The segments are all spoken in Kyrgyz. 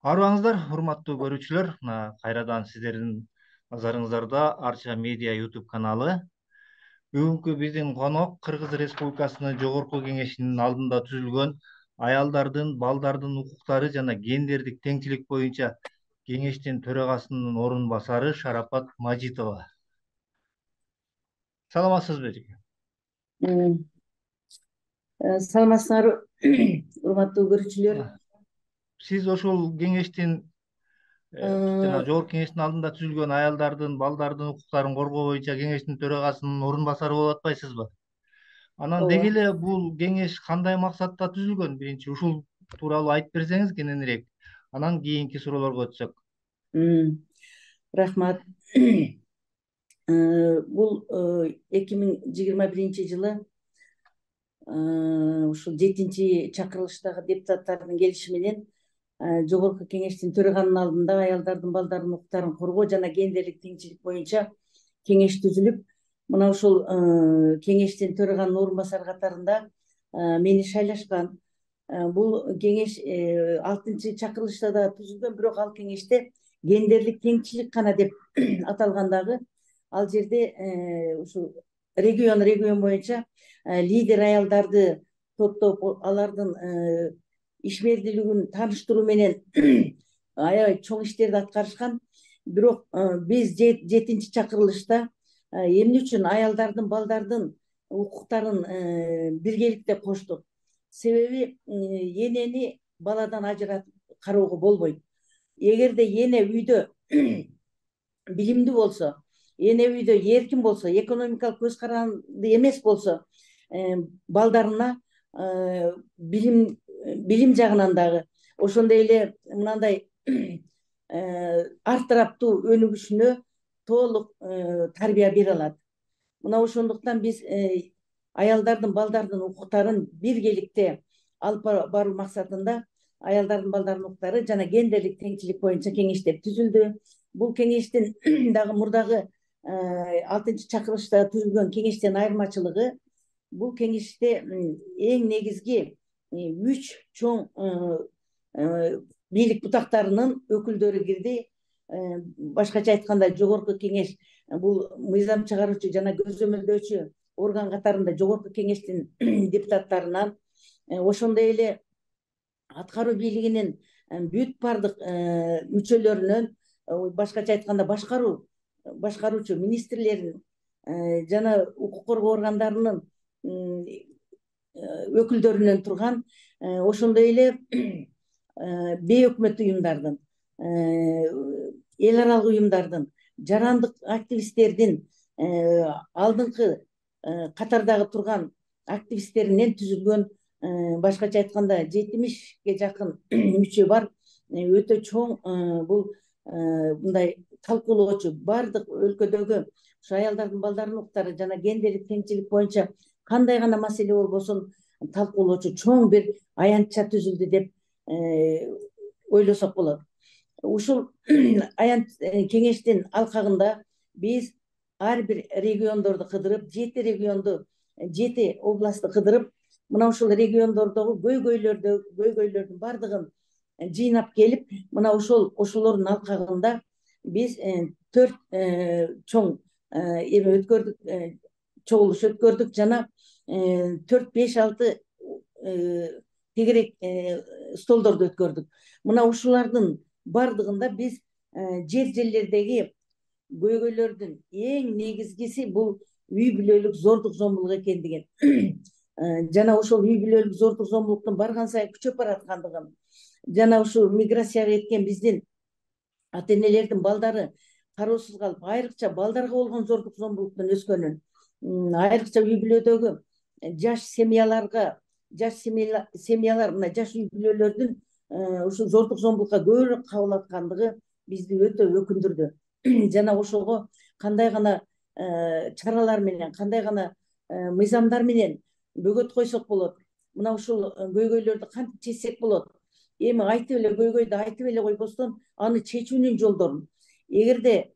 Арыбаңыздар, урматтуу көрүүчүлөр, кайрадан сиздердин назарыңыздарда Арча медиа YouTube каналы. Бүгүнкү биздин конок Кыргыз Республикасынын Жогорку Кеңешинин алдында түзүлгөн аялдардын, балдардын укуктары жана гендердик теңчилик боюнча Кеңештин төрагасынын орун басары Шарапат Мажитова. Саламатсызбы эжеке? Саламатсыңарбы, урматтуу көрүүчүлөр. Сиз ошол кеңештин жана Жогорку Кеңештин алдында түзүлгөн аялдардын, балдардын укуктарын коргоо боюнча Кеңештин төрагасынын орун басары болуп атпайсызбы? Анан деги эле бул кеңеш кандай максатта түзүлгөн? Биринчи ушул тууралуу айтып берсеңиз кененирээк, анан кийинки суроолорго өтсөк. Рахмат. Бул 2021-жылы ушул 7-чи чакырылыштагы депутаттардын келиши менен Жогорку Кеңештин төраганын алдында аялдардын, балдардын укуктарын коргоо жана гендерлик теңчилик боюнча кеңеш түзүлүп, мына ушул кеңештин төраганын орун басары катарында мени шайлашкан. Бул кеңеш 6-чы чакырылышта да түзүлгөн, бирок ал кеңеште гендерлик теңчилик гана деп аталгандагы, ал жерде ушул регион боюнча лидер аялдарды топтоп, алардын ишмердүүлүгүн тааныштыруу менен аябай чоң иштерди аткарышкан. Бирок биз 7-чи чакырылышта эмне үчүн аялдардын, балдардын укуктарын биргеликте коштук? Себеби энени баладан ажыратып кароого болбойт. Эгерде эне үйдө билимдүү болсо, эне үйдө эркин болсо, экономикалык көз каранды эмес болсо, балдарына билим жагынан дагы, ошондой эле мындай артыраптуу өнүгүшүнө толук тарбия бере алат. Мына ошондуктан биз аялдардын, балдардын укуктарын биргеликте алып баруу максатында аялдардын, балдардын укуктары жана гендерлик теңчилик боюнча кеңеш деп түзүлдү. Бул кеңештин дагы мурдагы 6-чы чакырылышта түзүлгөн кеңештен айырмачылыгы, бул кеңеште эң негизги 3 чоң бийлик бутактарынын өкүлдөрү кирди. Башкача айтканда, Жогорку Кеңеш бул мыйзам чыгаруучу жана көзөмөлдөөчү орган катарында Жогорку Кеңештин депутаттарынан, ошондой эле аткаруу бийлигинин бүт бардык мүчөлөрүнөн, башкача айтканда башкаруучу министрлерин жана укук коргоо органдарынын өкүлдөрүнөн турган, ошондой эле бейөкмөт уюмдардын, эл аралык уюмдардын, жарандык активисттердин, алдыңкы катардагы турган активисттеринен түзүлгөн, башкача айтканда 70-ге жакын мүчө бар өтө чоң бул мындай талкуулоочу, бардык өлкөдөгү ушу аялдардын, балдардын укуктары жана гендерлик теңчилик боюнча кандай гана маселе болбосун талкуулоочу чоң бир аянтча түзүлдү деп ойлосок болот. Ушул кеңештин алкагында биз ар бир региондорду кыдырып, 7 регионду, 7 областты кыдырып, мына ушул региондордогу көйгөйлөрдүн бардыгын жыйнап келип, мына ошолордун алкагында биз 4 чоң чогулуш өткөрдүк жана 4-5-6 тегерек столдорду өткөрдүк. Мына ушулардын бардыгында биз жерлердеги көйгөйлөрдүн эң негизгиси бул үй бүлөлүк зордук зомбулук экендигин жана ошол үй бүлөлүк зордук зомбулуктун барган сайын күчөп бараткандыгын, жана ушу миграцияга кеткен биздин ата-энелердин балдары кароосуз калып, айрыкча балдарга болгон зордук зомбулуктун өскөнүн, айрыкча үй бүлөдөгү жаш семьялар, мына жаш үй бүлөлөрдүн ушу зордук зомбулукка көбүрөөк кабыл аткандыгы бизди өтө өкүндүрдү. Жана ошого кандай гана чаралар менен, кандай гана мыйзамдар менен бөгөт койсок болот, мына ушул көйгөйлөрдү кантип чечсек болот, эми айтып эле көйгөйдү айтып эле койбостон, аны чечүүнүн жолдорун, эгерде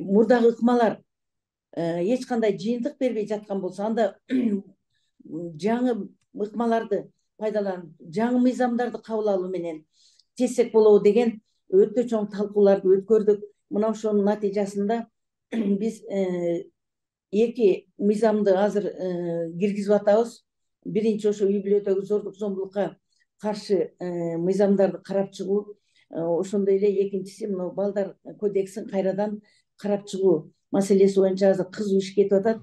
мурдагы ыкмалар эч кандай жыйынтык бербей жаткан болсо, анда жаңы ыкмаларды пайдаланып, жаңы мыйзамдарды кабыл алуу менен чечсек болобу деген өтө чоң талкууларды өткөрдүк. Мына ошонун натыйжасында биз эки мыйзамды азыр киргизип атабыз. Биринчи ошо үй бүлөдөгү зордук зомбулукка каршы мыйзамдарды карап чыгуу, ошондой эле экинчиси мына балдар кодексин кайрадан карап чыгуу маселеси боюнча азыр кызуу иш кетип атат.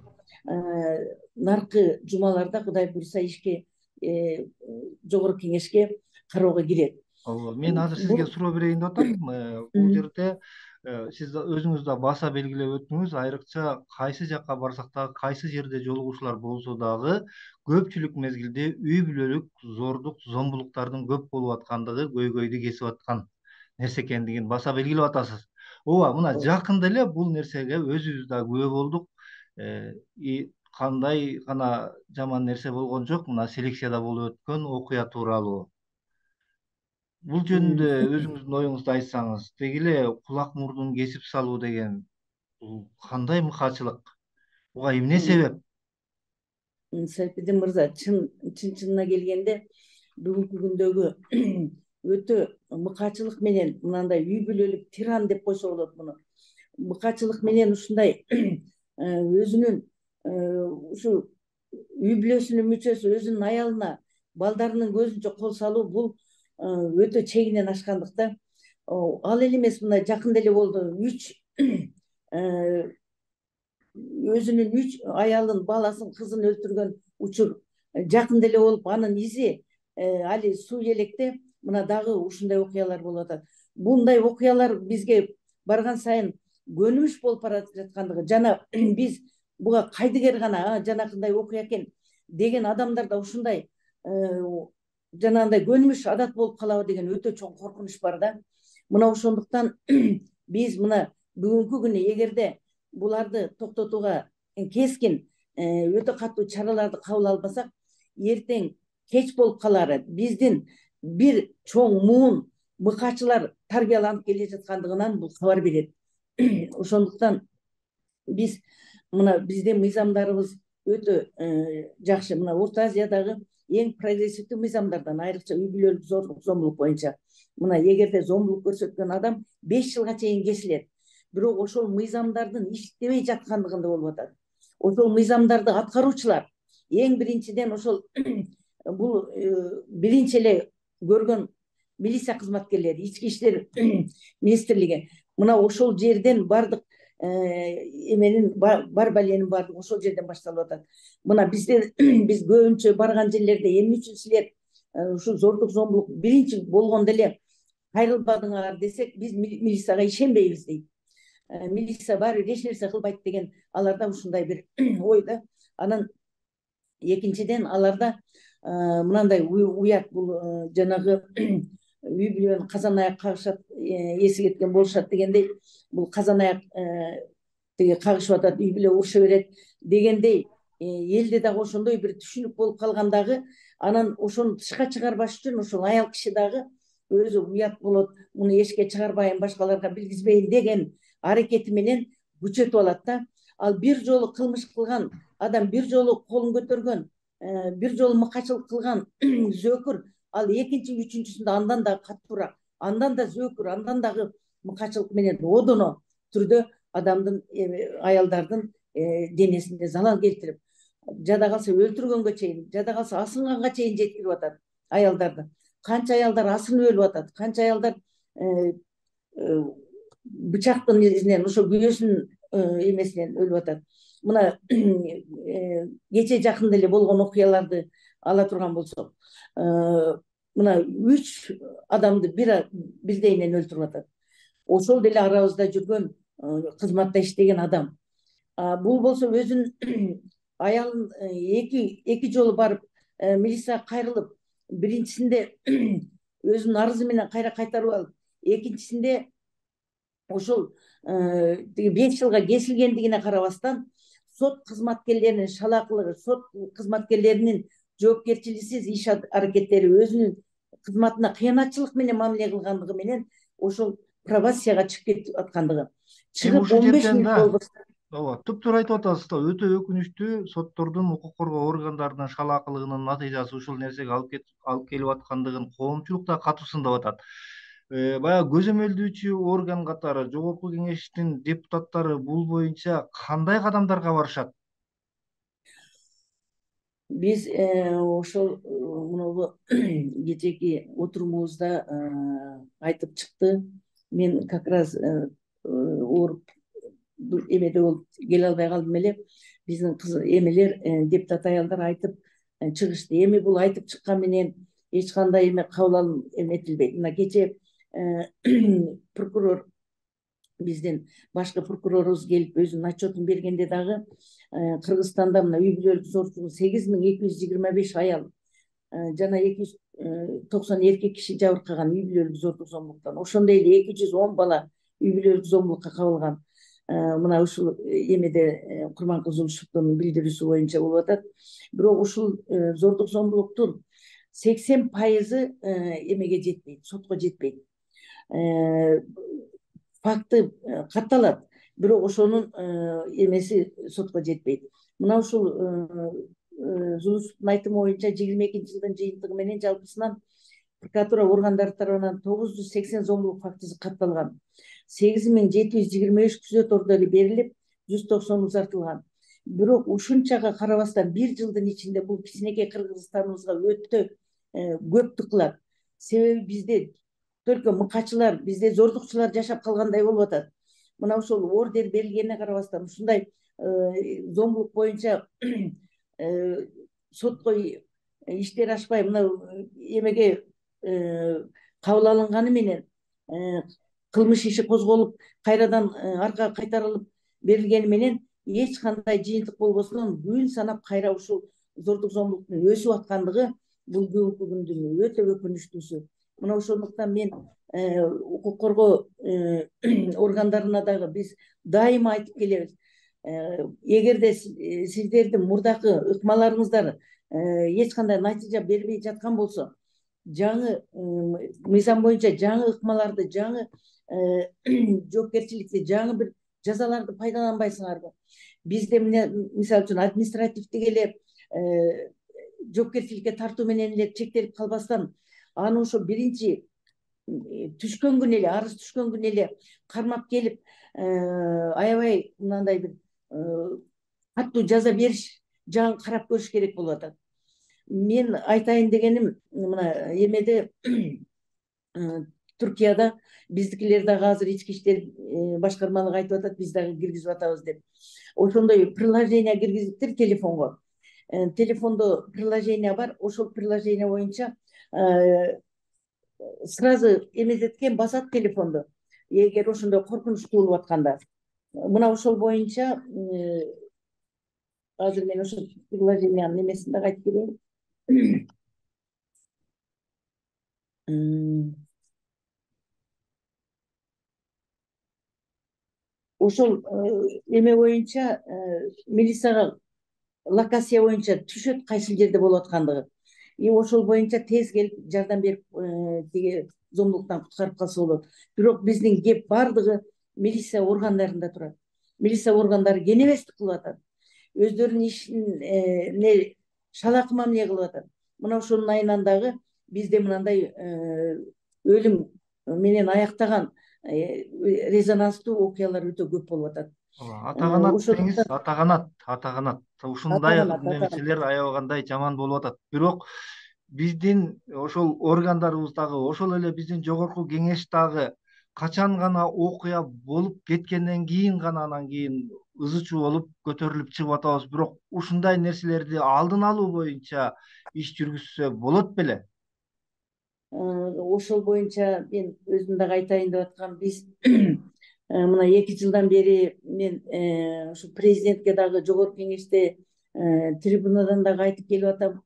Наркы жумаларда Кудай буйруса ишке жогорку кеңешке кароого кирет. Ооба, мен азыр сизге суроо берейин деп атам. Бул жерде сиз өзүңүз да баса белгилеп өттүңүз, айрыкча кайсы жакка барсак дагы, кайсы жерде жолугушуулар болсо дагы көпчүлүк мезгилде үй бүлөлүк зордук зомбулуктардын көп болуп аткандыгы көйгөйдү кесип аткан нерсе экендигин баса белгилеп атасыз. Ооба, мына жакында эле бул нерсеге өзүбүз да күбө болдук. Кандай гана жаман нерсе болгон жок, мына селекцияда болуп өткөн окуя тууралуу. Бул жөнүндө өзүңүздүн оюңузду айтсаңыз, деги эле кулак мурдун кесип салуу деген бул кандай мыкаачылык? Буга эмне себеп? Сайфиддин мырза, чынына келгенде бүгүнкү күндөгү өтө мыкаачылык менен мынандай үй бүлөлүк тиран деп койсо болот муну. Мыкаачылык менен ушундай өзүнүн ушу үй бүлөсүнүн мүчөсү өзүнүн аялына, балдарынын көзүнчө кол салуу бул өтө чегинен ашкандыкта. Ал эле эмес, мына жакында эле болду. Өзүнүн 3 аялын, баласын, кызын өлтүргөн учур жакында эле болуп, анын изи али суу электе. Мына дагы ушундай окуялар болуп атат. Мындай окуялар бизге барган сайын көнүмүш болуп бара жаткандыгы, жана биз буга кайдыгер гана жанакындай окуя экен деген адамдарда ушундай жанагындай көнүмүш адат болуп калабы деген өтө чоң коркунуч бар да. Мына ошондуктан биз мына бүгүнкү күнү эгерде буларды токтотууга кескин өтө катуу чараларды кабыл албасак, эртең кеч болуп калары биздин бир чоң муун мыкаачылар тарбияланып келе жаткандыгынан бул кабар берет. Ошондуктан биз мына биздин мыйзамдарыбыз өтө жакшы. Мына Орто Азиядагы эң прогрессивдүү мыйзамдардан, айрыкча үй бүлөлүк зордук зомбулук боюнча. Мына эгерде зомбулук көрсөткөн адам 5 жылга чейин кесилет. Бирок ошол мыйзамдардын иштебей жаткандыгында болуп атат. Ошол мыйзамдарды аткаруучулар эң биринчиден ошол бул биринчи эле көргөн милиция кызматкерлери, ички иштер министрлиги. Мына ошол жерден бардык эменин бар баленин баардыгы ошол жерден башталып атат. Мына биз көбүнчө барган жерлерде эмне үчүн силер ушу зордук зомбулук биринчи болгондо эле кайрылбадыңар десек, биз милицияга ишенбейбиз дейт. Милиция баары бир эч нерсе кылбайт деген аларда ушундай бир ой да. Анан экинчиден аларда мынандай уят, бул жанагы үй бүлөнүн казан аяк кагышат, эси кеткен болушат дегендей, бул казан аяк тиги кагышып атат, үй бүлө уруша берет дегендей элде дагы ошондой бир түшүнүк болуп калган дагы. Анан ошону тышка чыгарбаш үчүн ошол аял киши дагы өзү уят болот, муну эшикке чыгарбайын, башкаларга билгизбейин деген аракети менен күчөтүп алат да. Ал бир жолу кылмыш кылган адам, бир жолу колун көтөргөн, бир жолу мыкаачылык кылган зөөкүр, ал экинчи, үчүнчүсүндө андан да катуураак, андан да зөөкүр, андан дагы мыкаачылык менен одоно түрдө адамдын, аялдардын денесине залал келтирип, жада калса өлтүргөнгө чейин, жада калса асынганга чейин жеткирип атат аялдарды. Канча аялдар асынып өлүп атат, канча аялдар бычактын изинен, ошо күйөөсүнүн эмесинен өлүп атат. Мына кече жакында эле болгон окуяларды ала турган болсок, мына 3 адамды бирдейинен өлтүрүп атат. Ошол деле арабызда жүргөн, кызматта иштеген адам. Бул болсо өзүнүн аялын эки жолу барып милицияга кайрылып, биринчисинде өзүнүн арызы менен кайра кайтарып алып, экинчисинде ошол 5 жылга кесилгендигине карабастан сот кызматкерлеринин шалаакылыгы, сот кызматкерлеринин жоопкерчиликсиз иш аракеттери, өзүнүн кызматына кыянатчылык менен мамиле кылгандыгы менен ошол пробацияга чыгып кетип аткандыгы. Чыгып 15 мүнөт болбос. Ооба, туптуура айтып атасыз да. Өтө өкүнүчтүү, соттордун, укук коргоо органдарынын шалаакылыгынын натыйжасы ушул нерсеге алып келип аткандыгын коомчулук да катуу сындап атат. Баягы көзөмөлдөөчү орган катары Жогорку Кеңештин депутаттары бул боюнча кандай кадамдарга барышат? Биз ошол мунабу кечээки отурумубузда айтып чыкты. Мен как раз ооруп эмеде болуп келе албай калдым эле. Биздин эмелер депутат аялдар айтып чыгышты. Эми бул айтып чыккан менен эч кандай эме кабыл алым эметилбейт. Мына кечээ прокурор биздин башкы прокурорубуз келип өзүнүн отчетун бергенде дагы Кыргызстанда мына үй бүлөлүк зорчулук 8225 аял жана 290 эркек киши жабыркаган үй бүлөлүк зордук зомбулуктан. Ошондой эле 210 бала үй бүлөлүк зомбулукка кабылган. Мына ушул эмеде Курманкул Жумушевдун билдирүүсү боюнча болуп атат. Бирок ушул зордук зомбулуктун 80% эмеге жетпейт, сотко жетпейт. Факты катталат, бирок ошонун эмеси сотко жетпейт. Мына ушул Жумушевдун айтымы боюнча 22 жылдын жыйынтыгы менен жалпысынан прокуратура органдары тарабынан 980 зомбулук фактысы катталган. 8723 күзөт ордору берилип, 190 узартылган. Бирок ушунчага карабастан бир жылдын ичинде бул кичинекей Кыргызстаныбызга өтө көп тыкылат. Себеби бизде только мыкачылар, бизде зордукчулар жашап калгандай болуп атат. Мына ошол ордер берилгенине карабастан ушундай зомбулук боюнча сотко иштер ашпай мына эмеге кабыл алынганы менен кылмыш иши козголуп кайрадан аркага кайтарылып берилгени менен эч кандай жыйынтык болбостон күн санап кайра ушул зордук зомбулуктун өсүп аткандыгы бул бүгүнкү күндүн өтө өкүнүчтүүсү. Мына ошондуктан мен укук коргоо органдарына дагы биз дайыма айтып келебиз. Эгерде сиздердин мурдакы ыкмаларыңыздар эч кандай натыйжа бербей жаткан болсо, жаңы мыйзам боюнча жаңы ыкмаларды, жаңы жоопкерчиликти, жаңы бир жазаларды пайдаланбайсыңарбы? Бизде мисалы үчүн административдик эле жоопкерчиликке тартуу менен эле чектелип калбастан, аны ошо биринчи түшкөн күнү эле, арыз түшкөн күнү эле кармап келип аябай мындай бир катуу жаза бериш жагын карап көрүш керек болуп атат. Мен айтайын дегеним, мына эмеде Түркияда биздикилер дагы азыр ички иштер башкармалыгы айтып атат, биз дагы киргизип атабыз деп. Ошондой приложение киргизиптир телефонго. Телефондо приложение бар, ошол приложение боюнча сразу эмезеткен басат телефонду. Эгер ошондой коркунуч туулуп атканда, мына ошол боюнча азыр мен ошол приложениянын эмесин дагы айтып берейин. Ошол эме боюнча милицияга локация боюнча түшөт кайсы жерде болуп аткандыгы. Ошол боюнча тез келип жардам берип тиги зомбулуктан куткарып калса болот. Бирок биздин кеп бардыгы милиция органдарында турат. Милиция органдары кенебестик кылып атат. Өздөрүнүн ишин шалакы мамиле кылып атат. Мына ошонун айынан дагы бизде мындай өлүм менен аяктаган резонанстуу окуялар өтө көп болуп атат. Атаганат деңиз, атаганат. Ушундай нерселер аябагандай жаман болуп атат. Бирок биздин ошол органдарыбыз дагы, ошол эле биздин Жогорку Кеңеш дагы качан гана окуя болуп кеткенден кийин гана анан кийин ызы чуу болуп көтөрүлүп чыгып атабыз. Бирок ушундай нерселерди алдын алуу боюнча иш жүргүзсө болот беле? Ошол боюнча мен өзүм дагы айтайын деп аткам. Биз мына 2 жылдан бери мен ушу президентке дагы Жогорку Кеңеште трибунадан дагы айтып келип атам.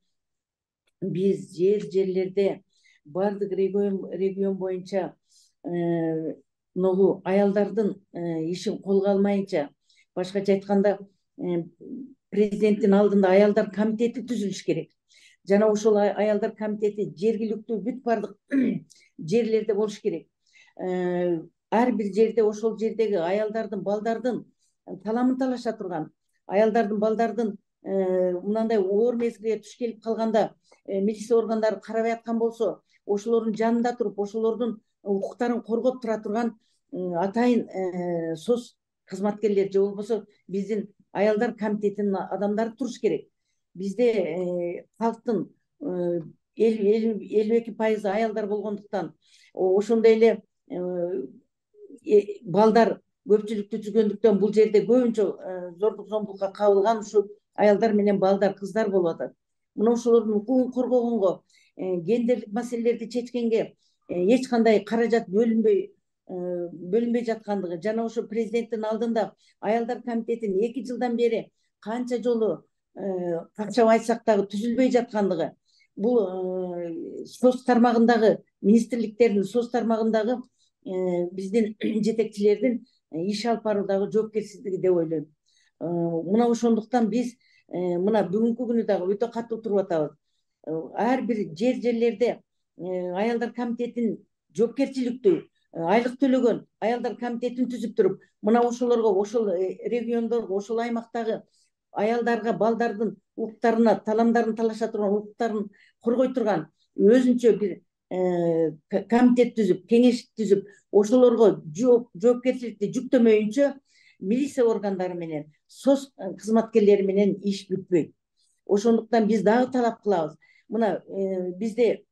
Биз жерлерде бардык регион боюнча могу аялдардын ишин колго алмайынча, башкача айтканда президенттин алдында аялдар комитети түзүлүш керек. Жана ошол аялдар комитети жергиликтүү бүт бардык жерлерде болуш керек. Ар бир жерде ошол жердеги аялдардын, балдардын таламын талаша турган, аялдардын, балдардын мындай оор мезгилге туш келип калганда милиция органдары карабай аткан болсо, ошолордун жанында туруп, ошолордун укуктарын коргоп тура турган атайын соц кызматкерлер же болбосо биздин аялдар комитетинин адамдары туруш керек. Бизде калктын 52% аялдар болгондуктан ошондой эле балдар көпчүлүктү түзгөндүктөн бул жерде көбүнчө зордук зомбулукка кабылган ушул аялдар менен балдар, кыздар болуп атат. Мына ошолордун укугун коргогонго, гендерлик маселелерди чечкенге эч кандай каражат бөлүнбөй жаткандыгы жана ошо президенттин алдында аялдар комитетин 2 жылдан бери канча жолу какчап айтсак дагы түзүлбөй жаткандыгы, бул соц тармагындагы министрликтердин соц тармагындагы биздин жетекчилердин иш алып баруудагы жоопкерсиздиги деп ойлойм. Мына ошондуктан биз мына бүгүнкү күнү дагы өтө катуу туруп атабыз. Ар бир жерлерде аялдар комитетин жоопкерчиликтүү айлык төлөгөн аялдар комитетин түзүп туруп, мына ошолорго, ошол региондорго, ошол аймактагы аялдарга, балдардын укуктарына, таламдарын талаша турган укуктарын коргой турган өзүнчө бир комитет түзүп, кеңеш түзүп, ошолорго жоопкерчиликти жүктөмөйүнчө милиция органдары менен, соц кызматкерлери менен иш бүтпөйт. Ошондуктан биз дагы талап кылабыз. Мына бизде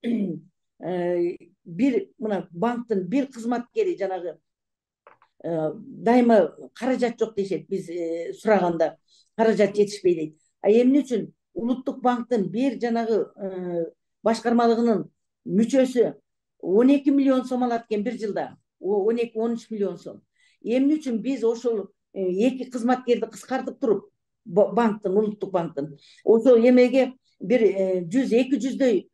бир мына банктын бир кызматкери жанагы дайыма каражат жок дешет, биз сураганда каражат жетишпей дейт. Эмне үчүн улуттук банктын бир жанагы башкармалыгынын мүчөсү 12 миллион сом алат экен бир жылда, 12-13 миллион сом. Эмне үчүн биз ошол 2 кызматкерди кыскартып туруп, банктын, улуттук банктын ошол эмеге бир 100-200дөй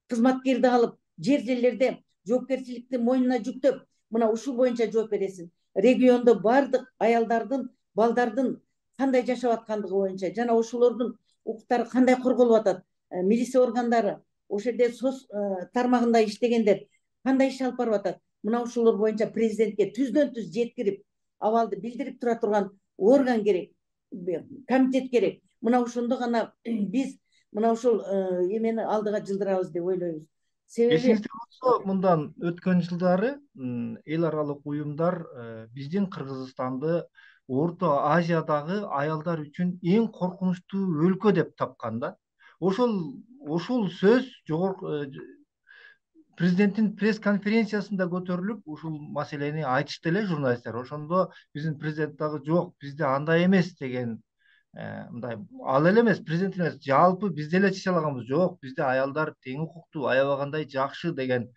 кызматкерди алып, жерлерде жоопкерчиликти мойнуна жүктөп, мына ушул боюнча жооп бересиң. Региондо бардык аялдардын, балдардын кандай жашап аткандыгы боюнча жана ошолордун укуктары кандай корголуп атат, милиция органдары, ошол жерде соц тармагында иштегендер кандай иш алып барып атат. Мына ошолор боюнча президентке түздөн түз жеткирип, абалды билдирип тура турган орган керек, комитет керек. Мына ошондо гана биз мына ошол эмени алдыга жылдырабыз деп ойлойбуз. Себеби Эсиңизде болсо, мындан өткөн жылдары эл аралык уюмдар биздин Кыргызстанды Орто Азиядагы аялдар үчүн эң коркунучтуу өлкө деп тапкан да. Ошол сөз жогорку президенттин пресс-конференциясында көтөрүлүп, ушул маселени айтышты эле журналисттер. Ошондо биздин президент дагы жок, бизде андай эмес деген, мындай ал эле эмес, президент эмес, жалпы биз деле чече алаганбыз, жок, бизде аялдар тең укуктуу, аябагандай жакшы деген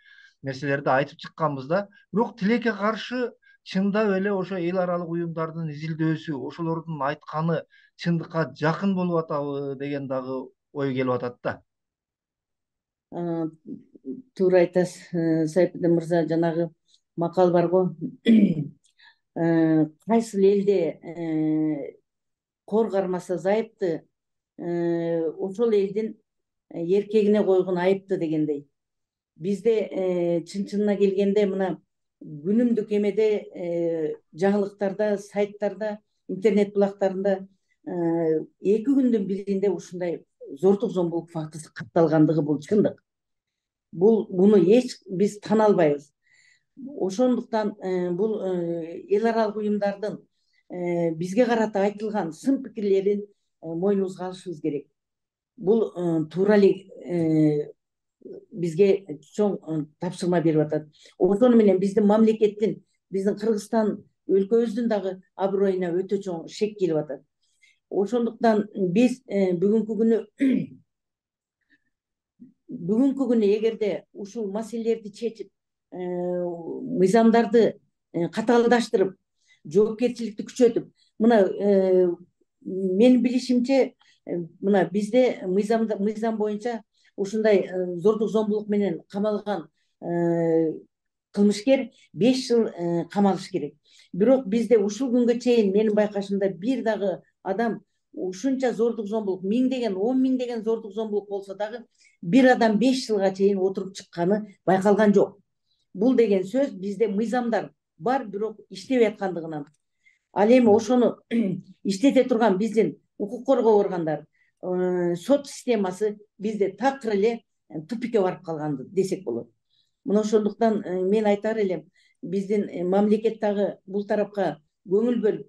нерселерди айтып чыкканбыз да. Бирок тилекке каршы чындап эле ошо эл аралык уюмдардын изилдөөсү, ошолордун айтканы чындыкка жакын болуп атабы деген дагы ой келип атат да. Туура айтасыз, Сайпеден мырза, жанагы макал бар го. Кайсыл элде кор кармаса зайыпты, ошол элдин эркегине койгон айыпты дегендей. Бизде чын-чынына келгенде мына күнүмдүк эмеде, жаңылыктарда, сайттарда, интернет булактарында 2 күндүн биринде ушундай зордук зомбулук фактысы катталгандыгы бул чындык. Буну эч биз тана албайбыз. Ошондуктан бул эл аралык уюмдардын бизге карата айтылган сын пикирлерин мойнубузга алышыбыз керек. Бул туура эле бизге чоң тапшырма берип атат. Ошону менен биздин мамлекеттин, биздин Кыргызстан өлкөбүздүн дагы аброюна өтө чоң шек келип атат. Ошондуктан биз бүгүнкү күнү эгерде ушул маселелерди чечип, мыйзамдарды катаалдаштырып, жоопкерчиликти күчөтүп, мына менин билишимче, мына бизде мыйзам боюнча ушундай зордук зомбулук менен камалган кылмышкер 5 жыл камалыш керек. Бирок бизде ушул күнгө чейин менин байкашымда бир дагы адам ушунча зордук зомбулук, 1000 миңдеген зордук зомбулук болсо дагы бир адам 5 жылга чейин отуруп чыкканы байкалган жок. Бул деген сөз бизде мыйзамдар бар, бирок иштебей аткандыгынан. Ал эми ошону иштете турган биздин укук коргоо органдары, сот системасы бизде такыр эле тупикке барып калган десек болот. Мына ошондуктан мен айтар элем, биздин мамлекет дагы бул тарапка көңүл бөлүп,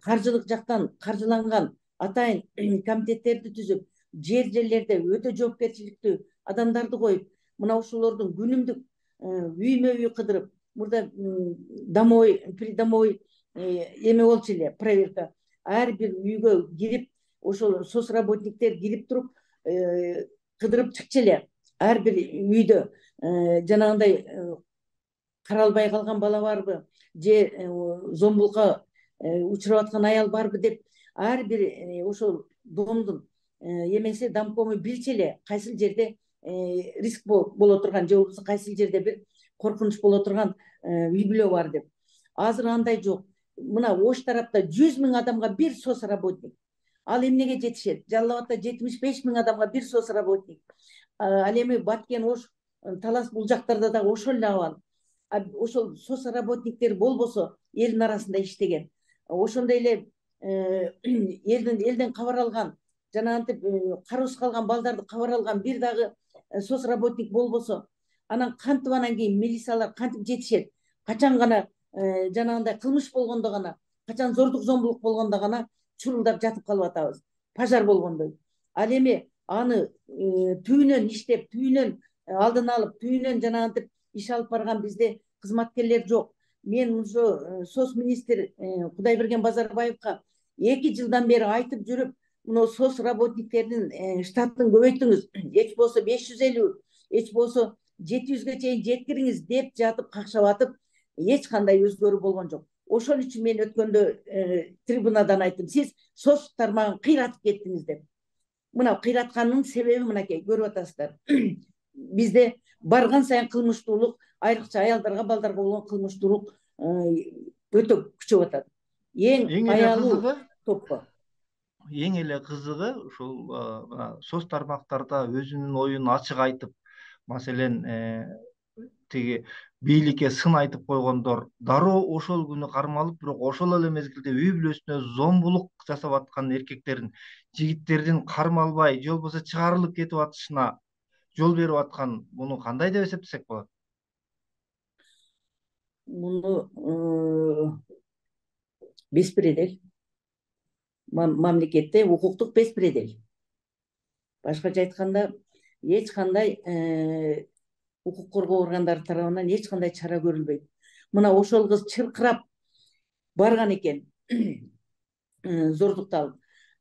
каржылык жактан каржыланган атайын комитеттерди түзүп, жерлерде өтө жоопкерчиликтүү адамдарды коюп, мына ошолордун күнүмдүк үймө үй кыдырып, мурда домовой, придомовой эме болчу эле, проверка. Ар бир үйгө кирип, ошол соцработниктер кирип туруп кыдырып чыкчу эле. Ар бир үйдө жанагындай каралбай калган бала барбы, же зомбулукка учурап аткан аял барбы деп, ар бир ошол домдун эмеси домкому билчү эле кайсыл жерде риск боло турган, же болбосо кайсыл жерде бир коркунуч боло турган үй бүлө бар деп. Азыр андай жок. Мына Ош тарапта 100 000 адамга бир соцработник. Ал эмнеге жетишет? Жалал Абадта 75 000 адамга бир соцработник. Ал эми Баткен, Ош, Талас бул жактарда да ошол эле абал. Ошол соцработниктер болбосо элдин арасында иштеген, ошондой эле элден кабар алган, жанагынтип кароосуз калган балдарды кабар алган бир дагы соцработник болбосо, анан кантип анан кийин милициялар кантип жетишет? Качан гана жанагындай кылмыш болгондо гана, качан зордук зомбулук болгондо гана чурулдап жатып калып атабыз, пожар болгондой. Ал эми аны түбүнөн иштеп, түбүнөн алдын алып, түбүнөн жанагынтип иш алып барган бизде кызматкерлер жок. Мен ошо соцминистр Кудайберген Базарбаевка 2 жылдан бери айтып жүрүп, мына соцработниктердин штатын көбөйтүңүз, эч болсо 550, эч болсо 700ге чейин жеткириңиз деп жатып какшап атып, эч кандай өзгөрүү болгон жок. Ошол үчүн мен өткөндө трибунадан айттым, сиз соц тармагын кыйратып кеттиңиз деп. Мына кыйратканынын себеби мынакей, көрүп атасыздар. Бизде барган сайын кылмыштуулук, айрыкча аялдарга, балдарга болгон кылмыштуулук өтө күчөп атат. Эң аялуу топко. Эң эле кызыгы ушул соц тармактарда өзүнүн оюн ачык айтып, маселен тиги бийликке сын айтып койгондор дароо ошол күнү кармалып, бирок ошол эле мезгилде үй бүлөсүнө зомбулук жасап аткан эркектердин, жигиттердин кармалбай же болбосо чыгарылып кетип атышына жол берип аткан, муну кандай деп эсептесек болот? Муну беспредел. Мамлекетте укуктук беспредел. Башкача айтканда, эч кандай укук коргоо органдары тарабынан эч кандай чара көрүлбөйт. Мына ошол кыз чыркырап барган экен, зордукталып.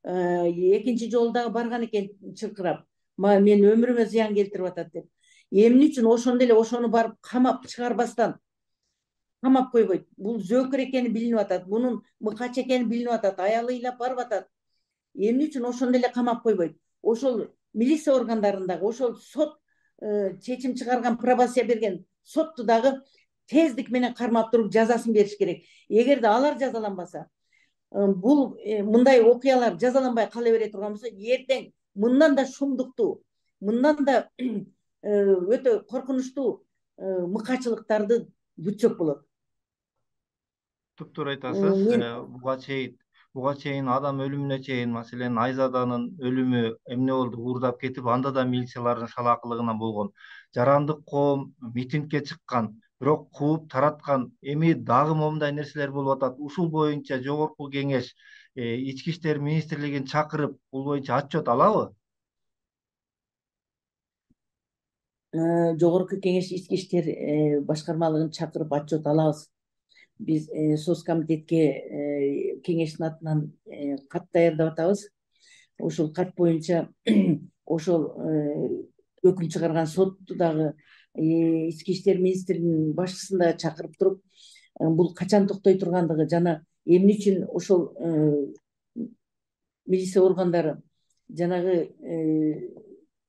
Экинчи жолу дагы барган экен чыркырап. Мен өмүрүмө зыян келтирип атат деп. Эмне үчүн ошондо эле ошону барып камап чыгарбастан камап койбойт? Бул зөөкөр экени билинип атат, бунун мыкач экени билинип атат, аялы ыйлап барып атат. Эмне үчүн ошондо эле камап койбойт? Ошол милиция органдарындагы, ошол сот чечим чыгарган, пробация берген сотту дагы тездик менен кармап туруп жазасын бериш керек. Эгерде алар жазаланбаса, бул мындай окуялар жазаланбай кала бере турган болсо, эртең мындан да шумдуктуу, мындан да өтө коркунучтуу мыкачылыктарды күтсөк болот. Туптуура айтасыз. Буга чейин адам өлүмүнө чейин, маселен Айзаданын өлүмү эмне болду, уурдап кетип, анда да милициялардын шалаакылыгынан болгон. Жарандык коом митингге чыккан, бирок кууп тараткан. Эми дагы момундай нерселер болуп атат. Ушул боюнча Жогорку Кеңеш Ички иштер министрлигин чакырып, бул боюнча отчет алабы? Жогорку Кеңеш Ички иштер башкармалыгын чакырып отчет алабыз. Биз соцкомитетке кеңештин атынан кат даярдап атабыз. Ошол кат боюнча ошол өкүм чыгарган сотту дагы, Ички иштер министринин башчысын да чакырып туруп, бул качан токтой тургандыгы, жана эмне үчүн ошол милиция органдары жанагы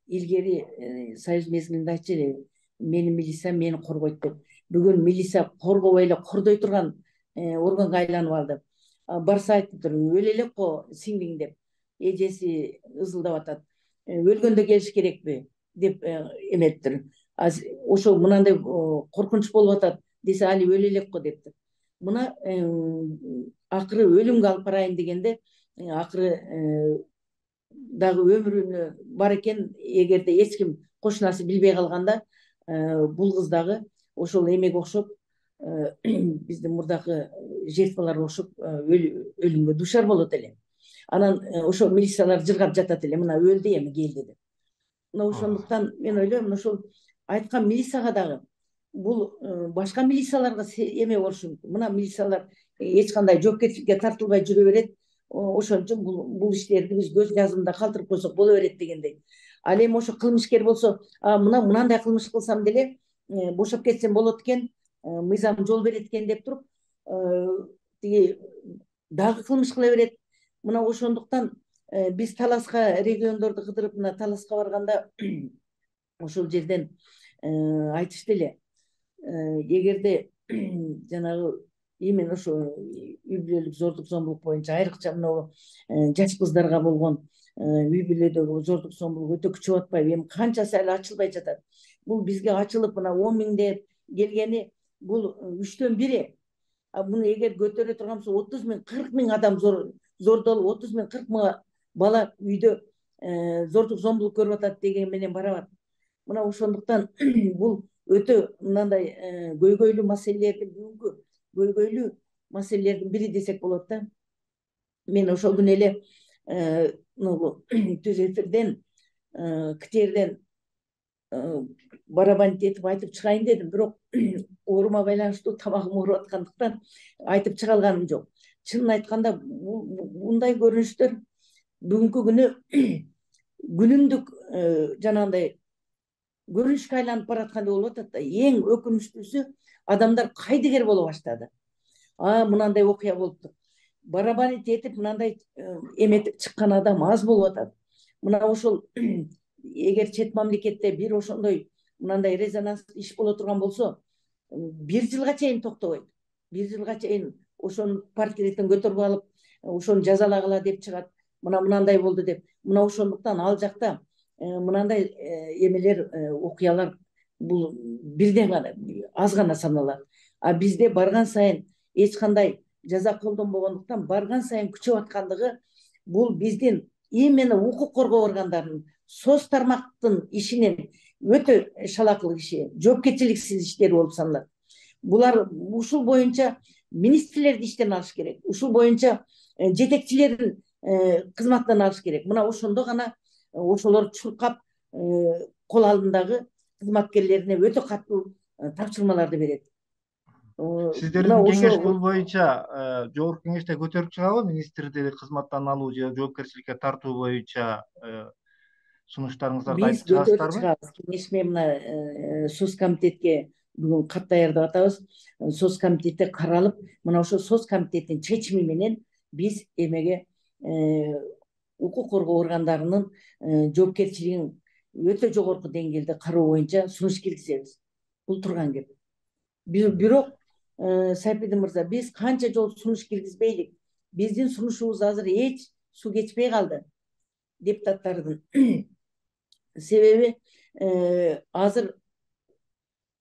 илгери Союз мезгилинде айтчу эле, менин милициям мени коргойт деп. Бүгүн милиция коргобой эле кордой турган органга айланып алды. Барса айтыптыр, өлө элекко сиңдиң деп, эжеси ызылдап атат. Өлгөндө келиш керекпи деп эметиптир. Ошо мынандай коркунуч болуп атат десе, али өлө элекко дептир. Мына акыры өлүмгө алып барайын дегенде, акыры дагы өмүрүнө бар экен, эгерде эч ким кошунасы билбей калганда, бул кыз дагы ошол эмеге окшоп биздин мурдакы жертваларга окшоп өлүмгө дуушар болот эле. Анан ошо милициялар жыргап жатат эле, мына өлдү эми келди деп. Мына ошондуктан мен ойлойм, ошол айткан милицияга дагы бул башка милицияларга эме болушу мүмкүн. Мына милициялар эч кандай жоопкерчиликке тартылбай жүрө берет. Ошон үчүн бул иштерди биз көз жазымда калтырып койсок боло берет дегендей. Ал эми ошо кылмышкер болсо, мынандай кылмыш кылсам деле бошоп кетсем болот экен, мыйзам жол берет экен деп туруп тиги дагы кылмыш кыла берет. Мына ошондуктан биз Таласка региондорду кыдырып, мына Таласка барганда ошол жерден айтышты эле, эгерде жанагы именно ошо үй бүлөлүк зордук зомбулук боюнча айрыкча мына жаш кыздарга болгон үй бүлөдөгү зордук зомбулук өтө күчөп атпайбы, эми канчасы эле ачылбай жатат. Бул бизге ачылып мына 10 000 деп келгени бул 1/3. Муну эгер көтөрө турган болсо 30 000, 40 000 адам зордолуп, 30 000, 40 000 бала үйдө зордук зомбулук көрүп атат деген менен барабат. Мына ошондуктан бул өтө мындай көйгөйлүү маселелердин, бүгүнкү көйгөйлүү маселелердин бири десек болот да. Мен ошол күнү эле түз эфирден КТРден барабан этип айтып чыгайын дедим, бирок оорума байланыштуу тамагым ооруп аткандыктан айтып чыга алганым жок. Чынын айтканда мындай көрүнүштөр бүгүнкү күнү күнүмдүк жанагындай көрүнүшкө айланып бараткандай болуп атат да. Эң өкүнүчтүүсү, адамдар кайдыгер боло баштады. Мынандай окуя болуптур. Барабан этип мынандай эметип чыккан адам аз болуп атат. Мына ошол эгер чет мамлекетте бир ошондой мынандай резонанс иш боло турган болсо, 1 жылга чейин токтобойт. 1 жылга чейин ошонун портреттин көтөрүп алып, ошону жазалагыла деп чыгат. Мынандай болду деп. Мына ошондуктан ал жакта мынандай эмелер, окуялар бул бирден гана, аз гана саналат. Бизде барган сайын эч кандай жаза колдонбогондуктан барган сайын күчөп аткандыгы бул биздин именно укук коргоо органдарынын, соц тармактын ишинин өтө шалакылык иши, жоопкерчиликсиз иштери болуп саналат. Булар ушул боюнча министрлерди иштен алыш керек. Ушул боюнча жетекчилерин кызматтан алыш керек. Мына ошондо гана ошолор чуркап кол алдындагы кызматкерлерине өтө катуу тапшырмаларды берет. Сиздердин кеңеш бул боюнча жогорку кеңеште көтөрүп чыгабы? Министрди кызматтан алуу же жоопкерчиликке тартуу боюнча сунуштарыңыздарды айтып чыгасыздарбы? Биз көтөрүп чыгабыз. Кеңеш менен мына соц комитетке бүгүн кат даярдап атабыз. Соц комитетте каралып, мына ошол соц комитеттин чечими менен биз эмеге укук коргоо органдарынын жоопкерчилигин өтө жогорку деңгээлде кароо боюнча сунуш киргизебиз. Бул турган кеп. Бирок Сайпидин мырза, биз канча жолу сунуш киргизбейлик, биздин сунушубуз азыр эч суу кечпей калды депутаттардын. Себеби азыр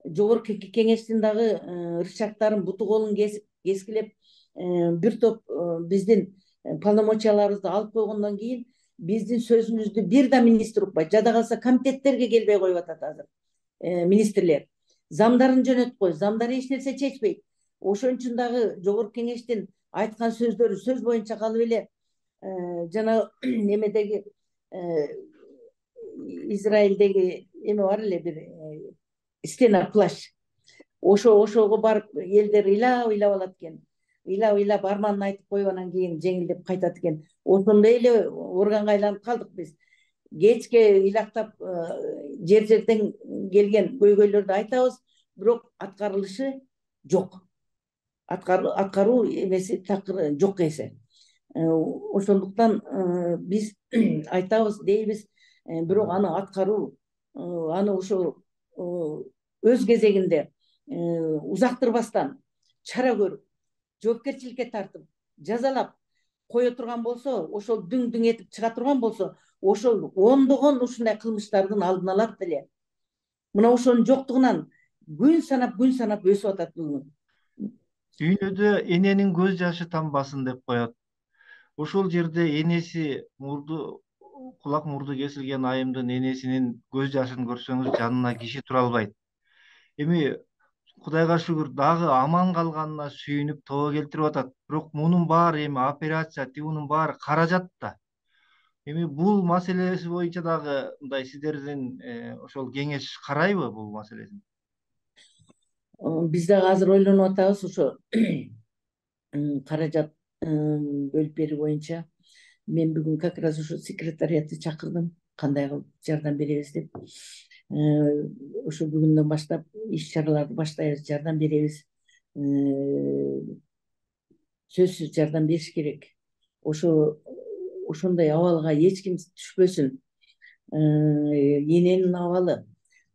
жогорку кеңештин дагы рычагдарын, буту колун кескилеп, бир топ биздин полномочияларыбызды алып койгондон кийин биздин сөзүбүздү бир да министр укпайт. Жада калса комитеттерге келбей коюп атат азыр министрлер. Замдарын жөнөтүп коюп, замдар эч нерсе чечпейт. Ошон үчүн дагы жогорку кеңештин айткан сөздөрү сөз боюнча калып эле жана эмедеги Израилдеги эме бар эле бир стена плащ. Ошого барып элдер ыйлап алат экен. Ыйлап арманын айтып коюп анан кийин жеңилдеп кайтат экен. Ошондой эле органга айланып калдык биз. Кечке ыйлактап жерден келген көйгөйлөрдү айтабыз, бирок аткарылышы жок. Аткаруу эмеси такыр жок эсе. Ошондуктан биз айтабыз дейбиз, бирок аны аткаруу, аны ошо өз кезегинде узактырбастан чара көрүп, жоопкерчиликке тартып, жазалап кое турган болсо, ошол дүң этип чыга турган болсо, ошол ондогон ушундай кылмыштардын алдын алат эле. Мына ошонун жоктугунан күн санап өсүп атат бүгүн. Дүйнөдө эненин көз жашы тамбасын деп коет. Ошол жерде энеси кулак мурду кесилген айымдын энесинин көз жашын көрсөңүз жанына киши тура албайт. Эми Кудайга шүгүр дагы аман калганына сүйүнүп тобо келтирип атат. Бирок мунун баары эми операция, тигунун баары каражат да. Эми бул маселеси боюнча дагы мындай сиздердин ошол кеңеш карайбы бул маселесин? Биз дагы азыр ойлонуп атабыз ошо каражат бөлүп берүү боюнча. Мен бүгүн как раз ошо секретариатты чакырдым, кандай кылып жардам беребиз деп. Ошо бүгүндөн баштап иш чараларды баштайбыз, жардам беребиз. Сөзсүз жардам бериш керек. Ошондой абалга эч ким түшпөсүн. Эненин абалы,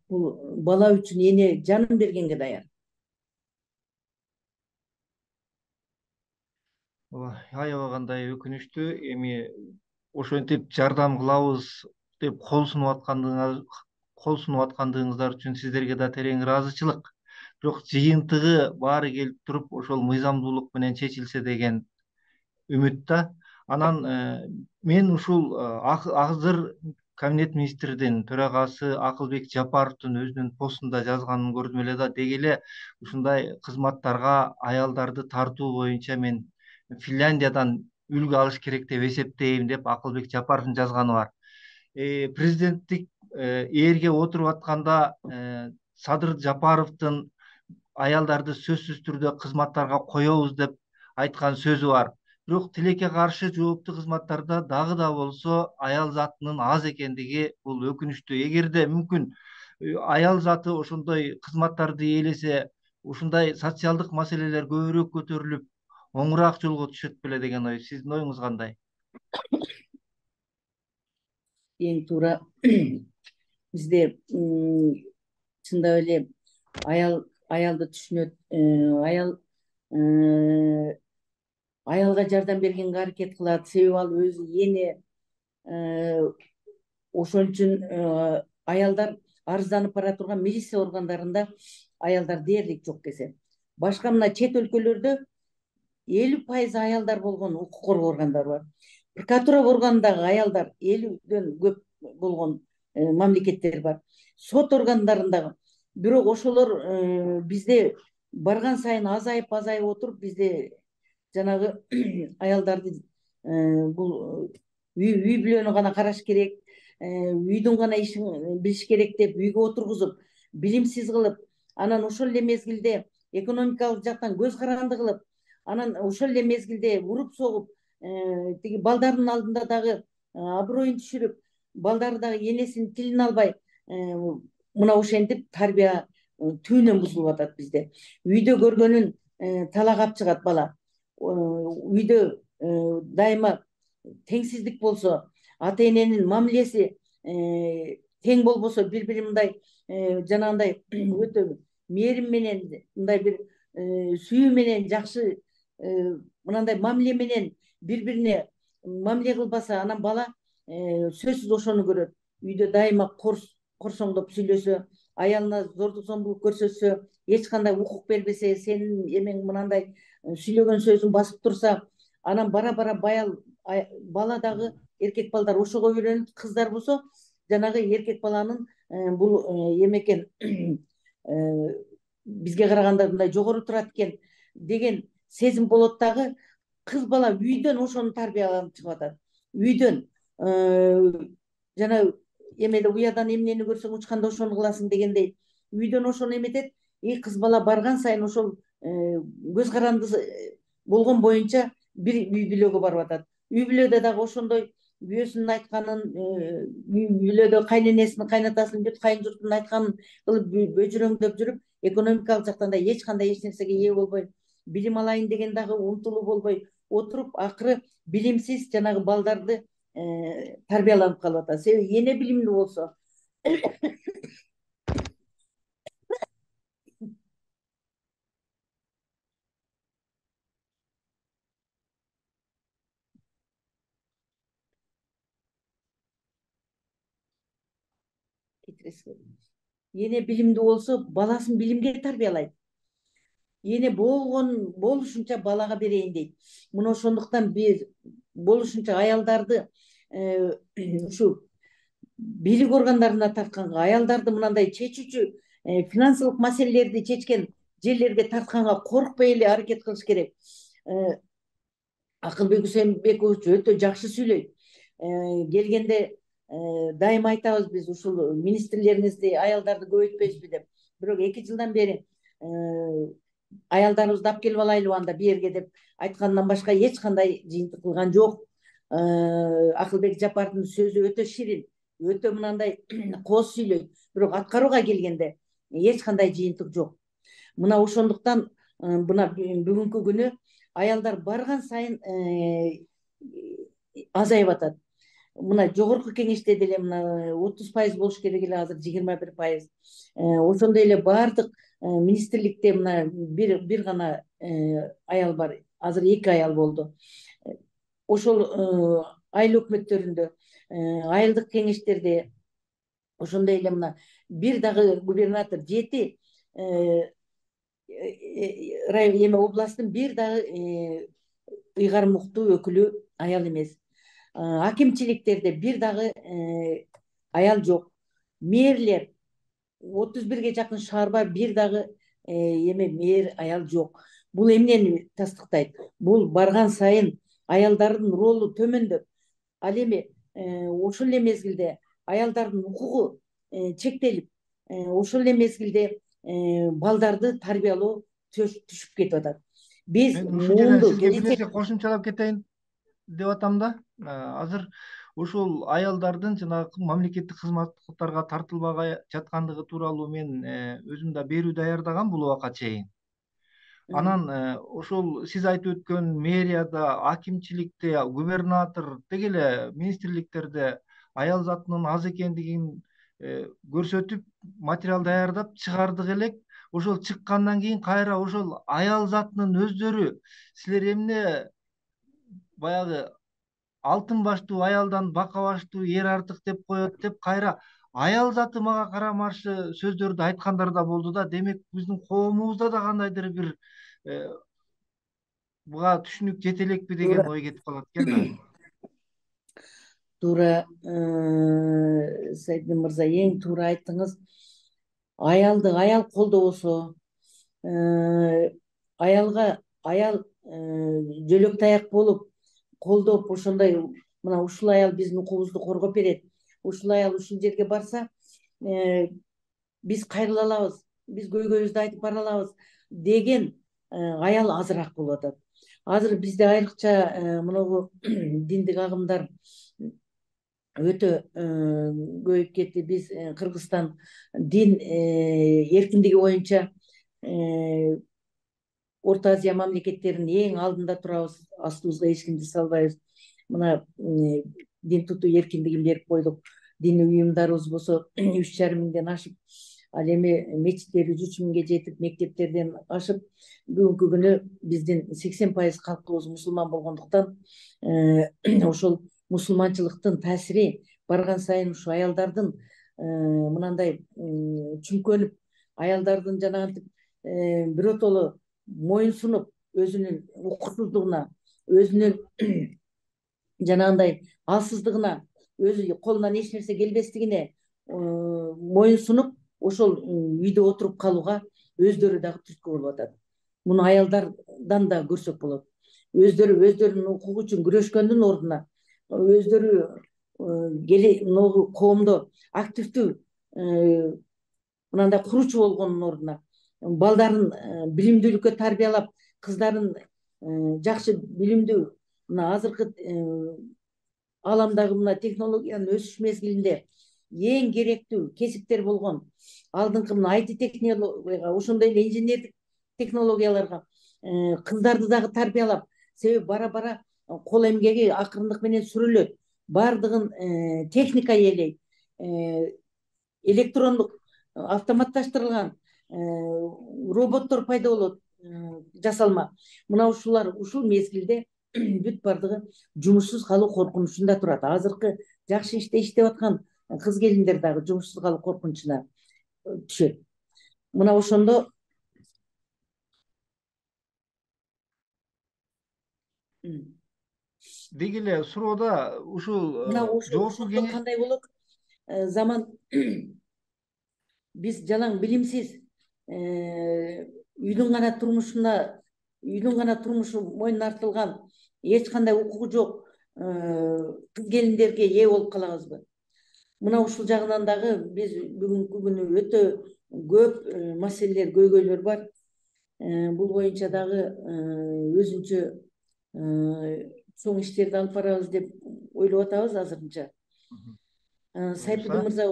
бул бала үчүн эне жанын бергенге даяр. Аябай кандай өкүнүчтүү. Эми ошентип жардам кылабыз деп кол сунуп аткандыгыңыздар үчүн сиздерге да терең ыраазычылык. Бирок жыйынтыгы баары келип туруп ошол мыйзамдуулук менен чечилсе деген үмүт да. Анан мен ушул азыр Кабинет министрдин төрагасы Акылбек Жапаровдун өзүнүн постунда жазганын көрдүм эле да. Деги эле ушундай кызматтарга аялдарды тартуу боюнча мен Финляндиядан үлгү алыш керек деп эсептейм деп Акылбек Жапаровдун жазганы бар. Президенттик ээрге отуруп атканда Садыр Жапаровдун аялдарды сөзсүз түрдө кызматтарга коебуз деп айткан сөзү бар. Бирок тилекке каршы жооптуу кызматтарда дагы да болсо аял затынын аз экендиги бул өкүнүчтүү. Эгерде мүмкүн аял заты ошондой кызматтарды ээлесе, ушундай социалдык маселелер көбүрөөк көтөрүлүп, оңураак жолго түшөт беле деген ой. Сиздин оюңуз кандай? Эң туура. Бизде чындап эле аялды түшүнөт. Аялга жардам бергенге аракет кылат. Себеби ал өзү эне. Ошон үчүн аялдар арызданып бара турган милиция органдарында аялдар дээрлик жок десе. Башка мына чет өлкөлөрдө 50% аялдар болгон укук коргоо органдары бар. Прокуратура органындагы аялдар 50дөн көп болгон мамлекеттер бар. Сот органдарындагы. Бирок ошолор бизде барган сайын азайып отуруп, бизде жанагы аялдарды бул үй бүлөнү гана караш керек, үйдүн гана ишин билиш керек деп үйгө отургузуп, билимсиз кылып, анан ошол эле мезгилде экономикалык жактан көз каранды кылып, анан ошол эле мезгилде уруп согуп, тиги балдардын алдында дагы аброюн түшүрүп, балдары дагы энесинин тилин албай, мына ошентип тарбия түбүнөн бузулуп атат бизде. Үйдө көргөнүн талагап чыгат бала. Үйдө дайыма теңсиздик болсо, ата эненин мамилеси тең болбосо, бири бири мындай жанагындай өтө мээрим менен, мындай бир сүйүү менен, жакшы мынандай мамиле менен бири бирине мамиле кылбаса, анан бала сөзсүз ошону көрөт. Үйдө дайыма корсоңдоп сүйлөсө, аялына зордук зомбулук көрсөтсө, эч кандай укук бербесе, сенин эмең мынандай сүйлөгөн сөзүң басып турса, анан бара бара бала дагы, эркек балдар ошого үйрөнүп, кыздар болсо жанагы эркек баланын бул эме бизге караганда мындай жогору турат экен деген сезим болот дагы. Кыз бала үйдөн ошону тарбияланып чыгып атат. Үйдөн жана эмеде уядан эмнени көрсөң учканда ошону кыласың дегендей, үйдөн ошону эметет. Кыз бала барган сайын ошол көз каранды болгон боюнча бир үй бүлөгө барып атат. Үй бүлөдө дагы ошондой күйөөсүнүн айтканын, үй бүлөдө кайненесинин, кайнатасынын, бүт кайын журтунун айтканын кылып бөжүрөңдөп жүрүп, экономикалык жактан да эч кандай эч нерсеге ээ болбой, билим алайын деген дагы умтулуу болбой отуруп, акыры билимсиз жанагы балдарды тарбияланып калып атат. Себеби эне билимдүү болсо, эне билимдүү болсо, баласын билимге тарбиялайт. Эне болушунча балага берейин дейт. Мына ошондуктан бир болушунча аялдарды ушу бийлик органдарына тартканга, аялдарды мындай чечүүчү финансылык маселелерди чечкен жерлерге тартканга коркпой эле аракет кылыш керек. Акылбек Усенбекович өтө жакшы сүйлөйт. Келгенде дайыма айтабыз биз ушул министрлериңизди, аялдарды көбөйтпөйсүзбү деп. Бирок 2 жылдан бери аялдарыбызды алып келип алайлыбы анда бу жерге деп айткандан башка эч кандай жыйынтык кылган жок. Акылбек Жапаровдун сөзү өтө ширин, өтө мынандай кооз сүйлөйт, бирок аткарууга келгенде эч кандай жыйынтык жок. Мына ошондуктан мына бүгүнкү күнү аялдар барган сайын азайып атат. Мына жогорку кеңеште деле мына 30% болуш керек эле, азыр 21%. Ошондой эле баардык министрликте мына бир гана аял бар. Азыр 2 аял болду. Ошол айыл өкмөттөрүндө, айылдык кеңештерде, ошондой эле мына бир дагы губернатор 7 областтын бир дагы ыйгарым уктуу өкүлү аял эмес. Акимчиликтерде бир дагы аял жок. Мэрлер 31ге жакын шаарда бир дагы мэр аял жок. Бул эмнени тастыктайт? Бул барган сайын аялдардын ролу төмөндөп, ал эми ошол эле мезгилде аялдардын укугу чектелип, ошол эле мезгилде балдарды тарбиялоо түшүп кетип атат. Биз Мен ушул жерден муунду сизге бир нерсе кошумчалап кетейин деп атам да. Азыр ушул аялдардын жанагы мамлекеттик кызматтарга тартылбай жаткандыгы тууралуу мен өзүм да берүү даярдагам бул убакка чейин. Анан ошол сиз айтып өткөн мэрияда, акимчиликте, губернатор деги эле министрликтерде аял затынын аз экендигин көрсөтүп, материал даярдап чыгардык элек. Ошол чыккандан кийин кайра ошол аял затынын өздөрү силер эмне баягы алтын баштуу аялдан бака баштуу эр артык деп коет деп кайра аял заты мага карама-каршы сөздөрдү айткандар да болду да. Демек биздин коомубузда да кандайдыр бир буга түшүнүк жете элекпи деген ой кетип калат экен да. Туура, Сайдин мырза, эң туура айттыңыз. Аялды аял колдобосо, аялга аял жөлөк таяк болуп колдоп, ошондой мына ушул аял биздин укугубузду коргоп берет, ушул аял ушул жерге барса биз кайрыла алабыз, биз көйгөйүбүздү айтып бара алабыз деген аял азыраак болуп атат. Азыр бизде айрыкча мынагу диндик агымдар өтө көбөйүп кетти. Биз Кыргызстан дин эркиндиги боюнча Орто Азия мамлекеттеринин эң алдында турабыз, астыбызга эч кимди салбайбыз. Мына дин тутуу эркиндигин берип койдук. Диний уюмдарыбыз болсо 3,5 миңден ашып, ал эми мечиттерибиз 3 миңге жетип, мектептерден ашып, бүгүнкү күнү биздин 80% калкыбыз мусулман болгондуктан ошол мусулманчылыктын таасири барган сайын ушу аялдардын мынандай чүмкөнүп, аялдардын жанагынтип биротоло моюнсунуп, өзүнүн укуксуздугуна, өзүнүн жанагындай алсыздыгына, өзү колунан эч нерсе келбестигине моюнсунуп, ошол үйдө отуруп калууга өздөрү дагы түрткү болуп атат. Муну аялдардан да көрсөк болот. Өздөрүнүн укугу үчүн күрөшкөндүн ордуна, өздөрү могу коомдо активдүү мынандай куруучу болгондун ордуна балдарын билимдүүлүккө тарбиялап, кыздарын жакшы билимдүү, мына азыркы ааламдагы мына технологиянын өсүш мезгилинде эң керектүү кесиптер болгон алдыңкы мына IT технологияга, ошондой эле инженердик технологияларга кыздарды дагы тарбиялап, себеби бара-бара кол эмгеги акырындык менен сүрүлөт. Бардыгын техника ээлейт. Электрондук автоматташтырылган роботтор пайда болот, жасалма. Мына ушул мезгилде бүт бардыгы жумушсуз калуу коркунучунда турат. Азыркы жакшы иштеп аткан кыз келиндер дагы жумушсуз калуу коркунучуна түшөт. Мына ошондо Деги эле суроода ушул мына жогорку ошондо кандай болот? Заман биз жалаң билимсиз үйдүн гана турмушу мойнуна артылган эч кандай укугу жок кыз келиндерге ээ болуп калабызбы? Мына ушул жагынан дагы биз бүгүнкү күнү өтө көп маселелер, көйгөйлөр бар. Бул боюнча дагы өзүнчө чоң иштерди алып барабыз деп ойлоп атабыз азырынча. Сайпудин мырза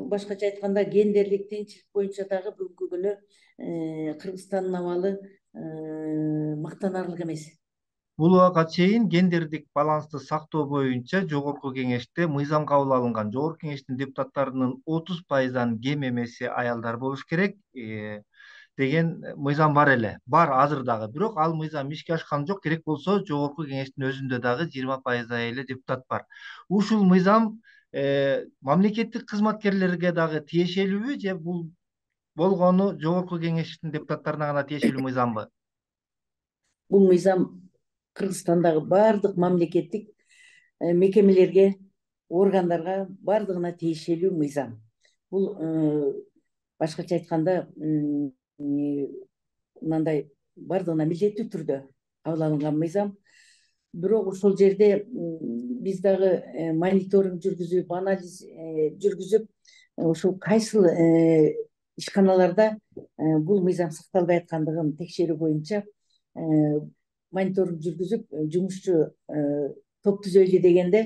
башкача айтканда гендерлик теңчилик боюнча дагы бүгүнкү күнү Кыргызстандын абалы мактанаарлык эмес. Бул убакка чейин гендердик балансты сактоо боюнча Жогорку Кеңеште мыйзам кабыл алынган. Жогорку Кеңештин депутаттарынын 30%дан кем эмеси аялдар болуш керек деген мыйзам бар эле. Бар азыр дагы. Бирок ал мыйзам ишке ашкан жок. Керек болсо Жогорку Кеңештин өзүндө дагы 20%дай эле депутат бар. Ушул мыйзам мамлекеттик кызматкерлерге дагы тиешелүүбү же бул болгону Жогорку Кеңештин депутаттарына гана тиешелүү мыйзамбы? Бул мыйзам Кыргызстандагы баардык мамлекеттик мекемелерге, органдарга баардыгына тиешелүү мыйзам. Бул башкача айтканда мындай баардыгына милдеттүү түрдө кабыл алынган мыйзам. Бирок ошол жерде биз дагы мониторинг жүргүзүп, анализ жүргүзүп, ошол кайсыл ишканаларда бул мыйзам сакталбай аткандыгын текшерүү боюнча мониторинг жүргүзүп, жумушчу топ түзөйлү дегенде,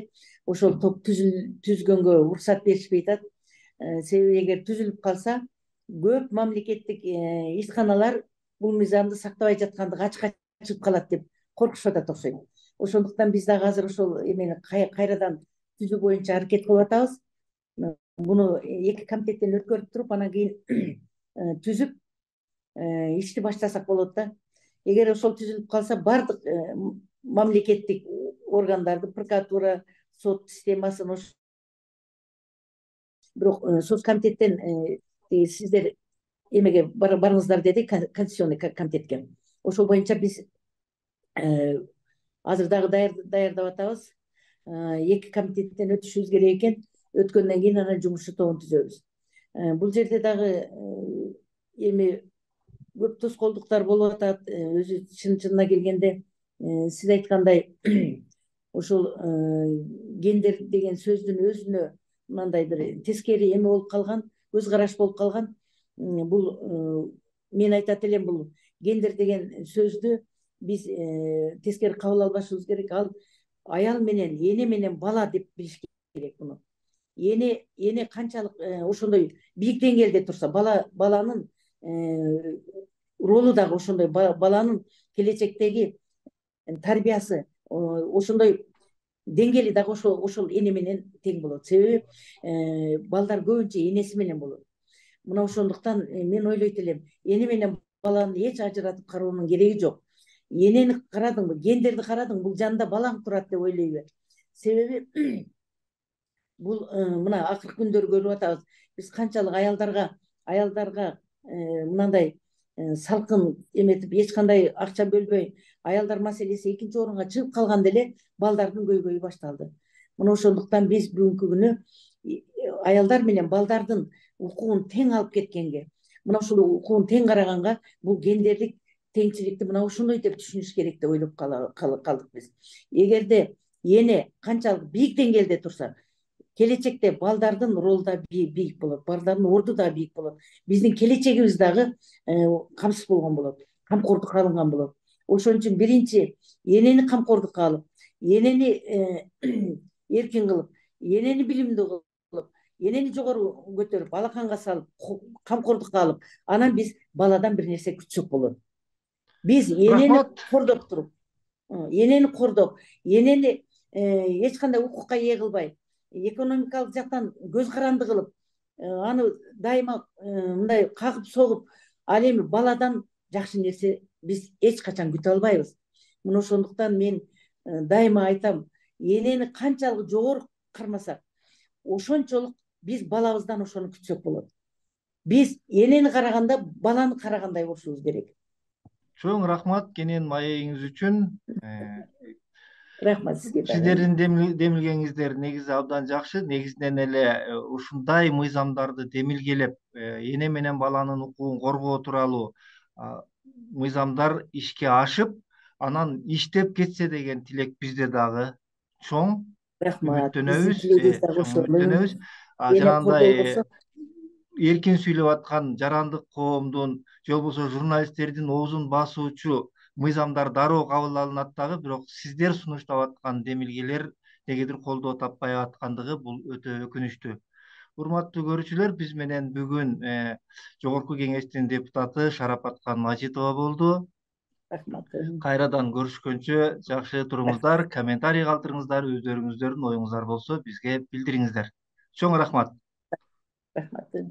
ошол топ түзгөнгө уруксат беришпей атат. Себеби эгер түзүлүп калса, көп мамлекеттик ишканалар бул мыйзамды сактабай жаткандыгы ачыкка чыгып калат деп коркушуп атат окшойт. Ошондуктан биз дагы азыр ошол эмени кайрадан түзүү боюнча аракет кылып атабыз. Буну 2 комитеттен өткөрүп туруп, анан кийин түзүп ишти баштасак болот да. Эгер ошол түзүлүп калса, баардык мамлекеттик органдарды, прокуратура, сот системасын бирок соц комитеттен сиздер эмеге барыңыздар деди, Конституционный комитетке. Ошол боюнча биз азыр дагы даярдап атабыз. 2 комитеттен өтүшүбүз керек экен. Өткөндөн кийин анан жумушчу тобун түзөбүз. Бул жерде дагы эми көп тоскоолдуктар болуп атат. Өзү чынына келгенде сиз айткандай ошол гендер деген сөздүн өзүнө мындай бир тескери эме болуп калган, көз караш болуп калган. Бул мен айтат элем, бул гендер деген сөздү биз тескери кабыл албашыбыз керек. Ал аял менен, эне менен бала деп билиш керек муну. Эне канчалык ошондой бийик деңгээлде турса, баланын ролу дагы ошондой, баланын келечектеги тарбиясы ошондой деңгээли дагы ошол эне менен тең болот. Себеби балдар көбүнчө энеси менен болот. Мына ошондуктан мен ойлойт элем, эне менен баланы эч ажыратып кароонун кереги жок. Энени карадыңбы, гендерди карадың, бул жанында балаң турат деп ойлой бер. Себеби бул мына акыркы күндөрү көрүп атабыз. Биз канчалык аялдарга мындай салкын эметип, эч кандай акча бөлбөй, аялдар маселеси экинчи орунга чыгып калганда эле балдардын көйгөйү башталды. Мына ошондуктан биз бүгүнкү күнү аялдар менен балдардын укугун тең алып кеткенге, мына ушул укугун тең караганга, бул гендерлик теңчиликти мына ошондой деп түшүнүш керек деп ойлоп калдык биз. Эгерде эне канчалык бийик деңгээлде турса, келечекте балдардын ролу да бийик болот, балдардын орду да бийик болот. Биздин келечегибиз дагы камсыз болгон болот, камкордукка алынган болот. Ошон үчүн биринчи энени камкордукка алып, энени эркин кылып, энени билимдүү кылып, энени жогору көтөрүп, алаканга салып, камкордукка алып, анан биз баладан бир нерсе күтсөк болот. Биз энени кордоп туруп, энени эч кандай укукка ээ кылбай, экономикалык жактан көз каранды кылып, аны дайыма мындай кагып согуп, ал эми баладан жакшы нерсе биз эч качан күтө албайбыз. Мына ошондуктан мен дайыма айтам, энени канчалык жогору кармасак, ошончолук биз балабыздан ошону күтсөк болот. Биз энени караганда баланы карагандай болушубуз керек. Чоң рахмат кенен маегиңиз үчүн. Рахмат сизге дагы. Сиздердин демилгениңиздер негизи абдан жакшы. Негизинен эле ушундай мыйзамдарды демилгелеп, эне менен баланын укугун коргоо тууралуу мыйзамдар ишке ашып, анан иштеп кетсе деген тилек бизде дагы чоң. Рахмат. Биздин Үмүттөнөбүз, тилегибиз дагы чоң ошол. үмүттөнөбүз. Эне Жанагындай колдой берсек, эркин сүйлөп аткан жарандык коомдун же болбосо журналисттердин оозун басуучу мыйзамдар дароо кабыл алынат дагы, бирок сиздер сунуштап аткан демилгелер негедир колдоо таппай аткандыгы бул өтө өкүнүчтүү. Урматтуу көрүүчүлөр, биз менен бүгүн Жогорку Кеңештин депутаты Шарапаткан Мажитова болду. рахмат. Кайрадан көрүшкөнчө жакшы туруңуздар, комментарий калтырыңыздар, өздөрүңүздөрдүн оюңуздар болсо бизге билдириңиздер. Чоң рахмат. Рахмат.